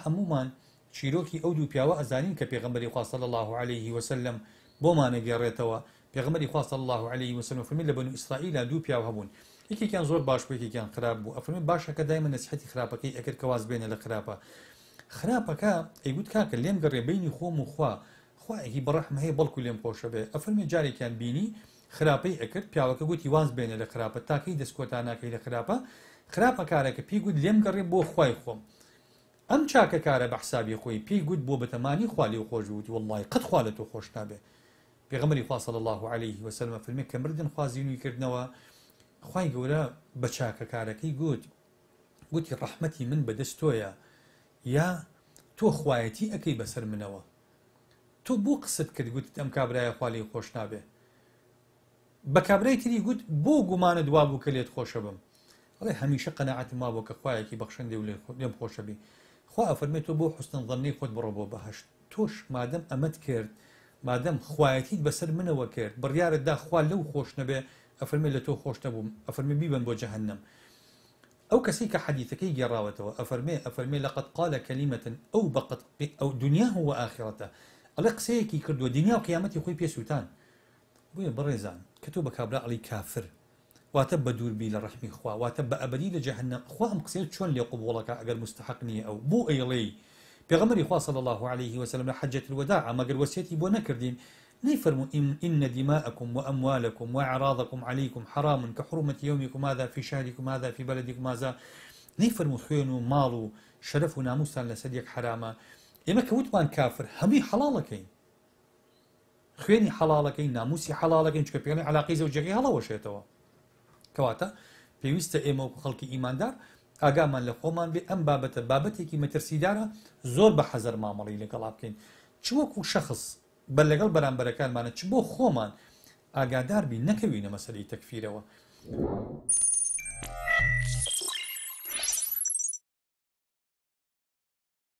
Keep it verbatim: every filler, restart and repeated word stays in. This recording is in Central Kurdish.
هەموومان چیرۆکی ئەو دوو پیاوە ئەزانین کە پێغەمبەری خوا صلی الله علیه وسلم بۆمان ئەگێڕێتەوە. پێغەمبەری خوا صلی الله علیه وسلم فەرمی لە بەنو ئیسرائیلا دوو پیاو هەبوون، یەکێکیان زۆر باش بوو یەکێکیان خراپ بوو. ئەفەرمی باشەکە دایمە نەسیحەتی خراپەکەی ئەکرد کە واز بێنە لە خراپە. خراپەکە ئەیگوت کاکە لێم گەڕێ بینی خۆم و خوا، خوایەکی بەڕەحم هەیە بەڵکو لێم خۆشە بێ. ئەفەرمی جارێکیان بینی خراپەی ئەکرد، پیاوەکە گوتی واز بێنە لە خراپە، تاکەی دەستکۆتا ناکەی لە خراپە. خراپە کارەکە پێی گوت لێم گەڕێ بۆ خوای خۆم. ئەم چاکە کارە بە حسابی خۆی پێی گوت بۆ بەتەمانی خوا لێو خۆش بوو، وتی وەڵڵاهی قەت خوا لە تۆ خۆش نابێ. پێغەمبەری خوا صلی الله علیه وسلم فەرمی کە مردن خوا زینووی کردنەوە، خوای گەورە بە چاکەکارەکەی گوت، گوتی ڕەحمەتی من بەدەست تۆیە، یا تۆ خوایەتی ئەکەی بەسەر منەوە. تۆ بۆ قسەت کرد گوتت ئەم کابرایە خوا لێی خۆش نابێ. بە کابرای تری گوت بۆ گومانت وا بوو کە لێت خۆشە بم. ئەڵێ هەمیشە قەناعەتم وا بوو کە خوایەکی بەخشندێ و لێم خۆشە بی. خوا ئەفەرمێ تۆ بۆ حوسن ظەننەی خۆت بڕۆ بۆ بەهەشت. تۆش مادەم ئەمەت کرد، مادەم خوایەتیت بەسەر منەوە کرد، بڕیارت دا خوا لەو خۆش نەبێ، ئەفەرمێ لە تۆ خۆش نەبووم، ئەفەرمێ بیبەن بۆ جەهەنەم. ئەو کەسەی کە حەدیثەکەی گێڕاوەتەوە ئەفەرمێ ئەفەرمێ لەقد قال کەلیمەة ئەوبقت ئەو دنیاه وآخرته، ئەڵێ قسەیەکی کردووە دنیا و قیامەتی خۆی پێ سووتان. بۆیە بەڕێزان کە تۆ بە کابرا ئەڵێی کافر، واتە بە دووربی لە ڕەحمی خوا، واتە بە ئەبەدی لە جەهەنەم. خوا ئەم قسەیە چۆن لێ قبوڵەکە ئەگەر مستحق نییە ئەو بۆ ئەیڵێی؟ پێغەمبەری خوا صلی الله علیه وسلم لە حەجەت الوداع مەگەر وەسیەتی بۆ نەکردین نەیفەرموو إن دماءكم وأموالكم وأعراضكم عليكم حرام كحرمة يومكم هذا في شهركم هذا في بلدكم هذا. نەیفەرموو خوێن و ماڵ و شەرەف و ناموستان لەسەر یەک حرامە. ئێمە کە وتمان کافر هەمووی حەڵاڵەکەین، خوێنی حەڵاڵەکەین، ناموسی حەڵاڵەکەین، چونکە پێڵێن علاقەی زەوجەکەی هەڵەوەشێتەوە. کەواتە پێویستە ئێمە وەکو خەڵکی ئیماندار ئاگامان لە خۆمان بێ. ئەم بابەتە بابەتێکی مەترسیدارە، زۆر بە حەزەر مامەڵی لەگەڵا بکەین، چ وەکو شەخص بە لەگەڵ بەرامبەرەکانمانە، چ بۆ خۆمان ئاگادار بین نەکەوینە مەسەلەی تەکفیرەوە.